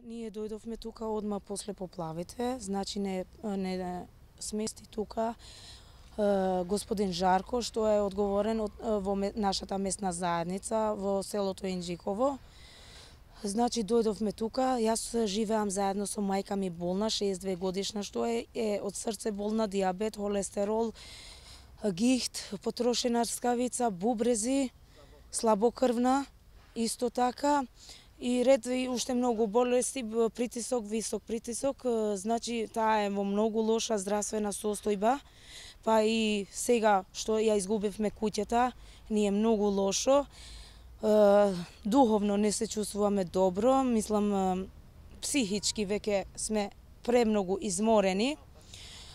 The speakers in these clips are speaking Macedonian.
Ние дојдовме тука одма после поплавите, значи не смести тука господин Жарко, што е одговорен во нашата местна заедница во селото Инџиково. Значи дојдовме тука, јас живеам заедно со мајка ми болна, 62 годишна, што е од срце болна, дијабет, холестерол, гихт, потрошена рскавица, бубрези, слабокрвна, исто така. И ред и уште многу болести, притисок, висок притисок, значи таа е во многу лоша здравствена состојба, па и сега што ја изгубивме куќата, ни е многу лошо. Духовно не се чувствуваме добро, мислам психички веќе сме премногу изморени.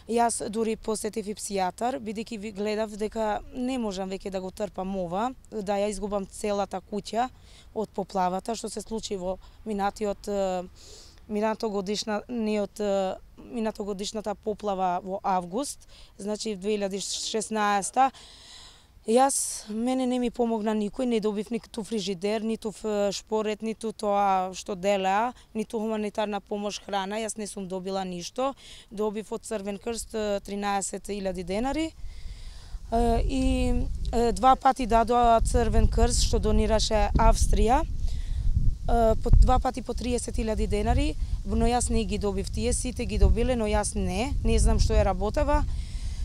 Јас дури посетив и псијатар, бидејќи ви гледав дека не можам веќе да го трпам ова, да ја изгубам целата куќа од поплавата, што се случи во минатогодишната поплава во август, значи 2016. Мене не ми помогна никој, не добив ниту фрижидер, ниту шпорет, ниту тоа што делеа, ниту хуманитарна помош, храна, јас не сум добила ништо. Добив од Црвен крст 13.000 денари. И два пати дадоа Црвен крст што донираше Австрија, два пати по 30.000 денари, но јас не ги добив, тие сите ги добиле, но јас не знам што е работава.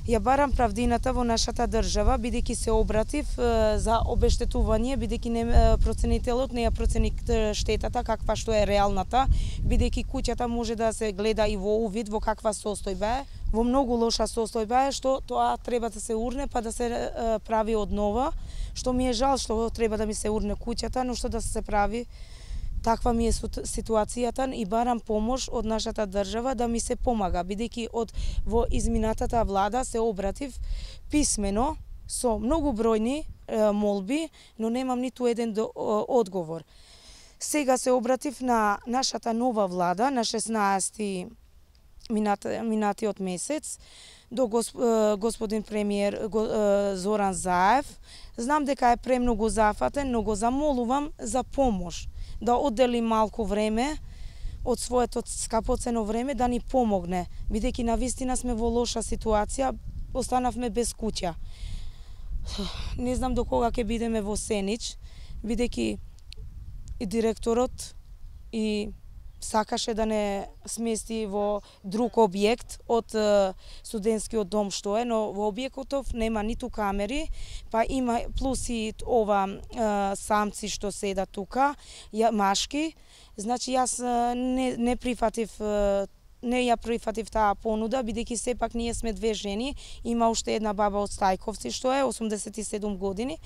Ја барам правдината во нашата држава, бидејќи се обратив за обештетување, бидејќи проценителот не ја процени штетата каква што е реалната, бидејќи куќата може да се гледа и во увид во каква состојба е. Во многу лоша состојба е, што тоа треба да се урне па да се прави однова, што ми е жал што треба да ми се урне куќата, но што да се прави. Таква ми е ситуацијата и барам помош од нашата држава да ми се помага, бидејќи во изминатата влада се обратив писмено со многу бројни молби, но немам ниту еден одговор. Сега се обратив на нашата нова влада на 16 минатиот месец до господин премиер Зоран Заев. Знам дека е премногу зафатен, но го замолувам за помош, да оддели малку време од своето скапоцено време да ни помогне, бидејќи навистина сме во лоша ситуација, останавме без куќа. Не знам до кога ќе бидеме во Сенич, бидејќи и директорот и сакаше да не смести во друг објект од студентскиот дом што е, но во објектот нема ниту камери, па има плюс и ова самци што седат тука, машки. Значи јас не ја прифатив таа понуда, бидејќи сепак ние сме две жени, има уште една баба од Стајковци што е 87 години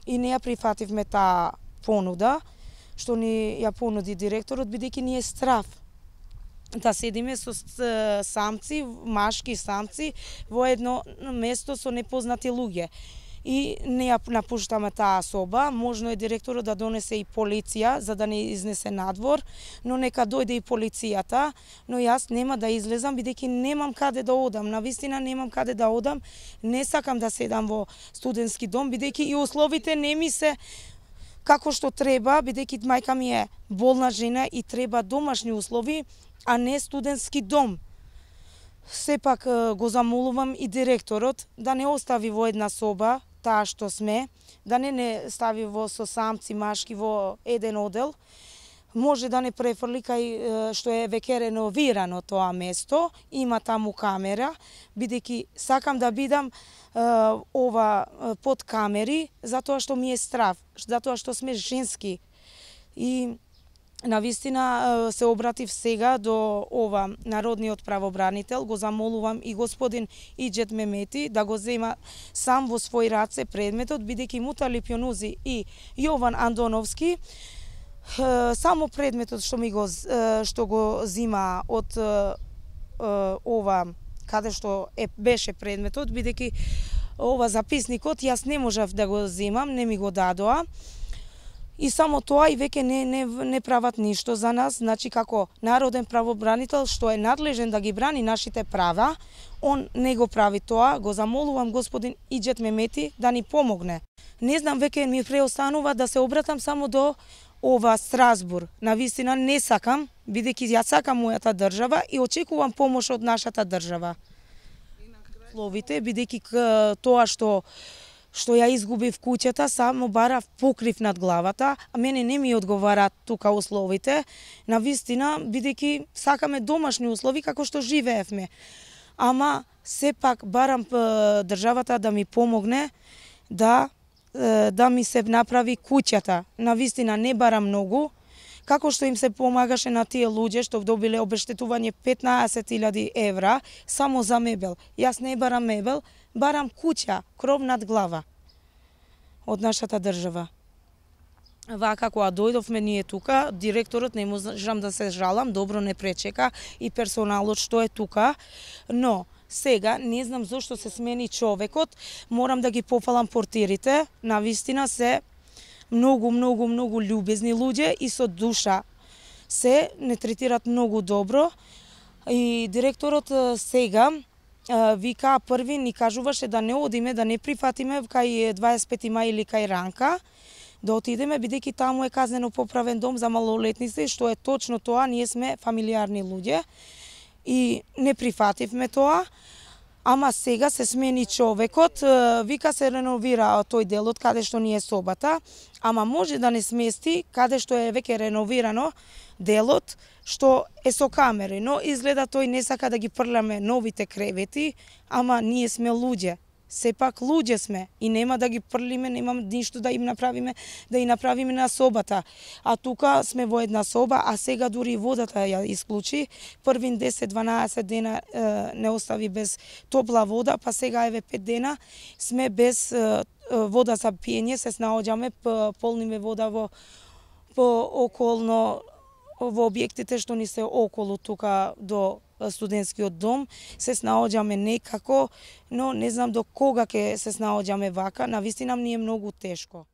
и не ја прифативме таа понуда што ни ја понуди директорот, бидејќи ни е страв да седиме со самци, машки самци во едно место со непознати луѓе. И не ја напуштаме таа соба, можно е директорот да донесе и полиција за да не изнесе надвор, но нека дојде и полицијата, но јас нема да излезам бидејќи немам каде да одам, навистина немам каде да одам, не сакам да седам во студентски дом бидејќи и условите не ми се како што треба, бидејќи мајка ми е болна жена и треба домашни услови, а не студентски дом. Сепак го замолувам и директорот да не остави во една соба таа што сме, да не стави со самци, машки во еден одел. Може да не префрли кај што е веќе реновирано тоа место, има таму камера, бидејќи сакам да бидам под камери, затоа што ми е страв, затоа што сме женски. И навистина се обратив сега до народниот правобранител, го замолувам и господин Иџет Мемети да го зема сам во свој раце предметот, бидејќи Муталип Јонузи и Јован Андоновски само предметот што го зима од каде што беше предметот, бидејќи записникот јас не можев да го земам, не ми го дадоа. И само тоа и веќе не прават ништо за нас, значи како народен правобранител што е надлежен да ги брани нашите права, он не го прави тоа. Го замолувам господин Иџет Мемети да ни помогне. Не знам, веќе ми преостанува да се обратам само до ова Страсбур. Навистина не сакам, бидејќи ја сакам мојата држава и очекувам помош од нашата држава. Словите, бидејќи тоа што ја изгубив куќата, само барав покрив над главата, а мене не ми одговараат тука условите. Навистина, бидејќи сакаме домашни услови како што живеевме. Ама сепак барам државата да ми помогне да ми се направи куќата. Навистина не барам многу, како што им се помагаше на тие луѓе што добиле обештетување 15.000 евра само за мебел. Јас не барам мебел, барам куќа, кров над глава од нашата држава. Вака кога дојдовме ние тука, директорот не можам да се жалам, добро не пречека и персоналот што е тука, но сега не знам зошто се смени човекот, морам да ги пофалам портирите, навистина се многу љубезни луѓе и со душа се не третират многу добро. И директорот сега вика први ни кажуваше да не одиме, да не прифатиме кај 25 мај или кај Ранка, да отидеме бидејќи таму е казнено поправен дом за малолетници, што е точно тоа, ние сме фамилиарни луѓе и не прифативме тоа. Ама сега се смени човекот, вика се реновира тој делот каде што ни е собата, ама може да не смести каде што е веќе реновирано делот што е со камери, но изгледа тој не сака да ги прляме новите кревети, ама ние сме луѓе. Сепак луѓе сме и нема да ги прлиме, нема ништо да им направиме, да и направиме на собата. А тука сме во една соба, а сега дури водата ја исклучи. Првин 10-12 дена не остави без топла вода, па сега еве 5 дена сме без вода за пиење, се снаоѓаме, полниме вода во околно во објектите што ни се околу тука до студентскиот дом, се снаоѓаме некако, но не знам до кога ќе се снаоѓаме вака, навистина ми е многу тешко.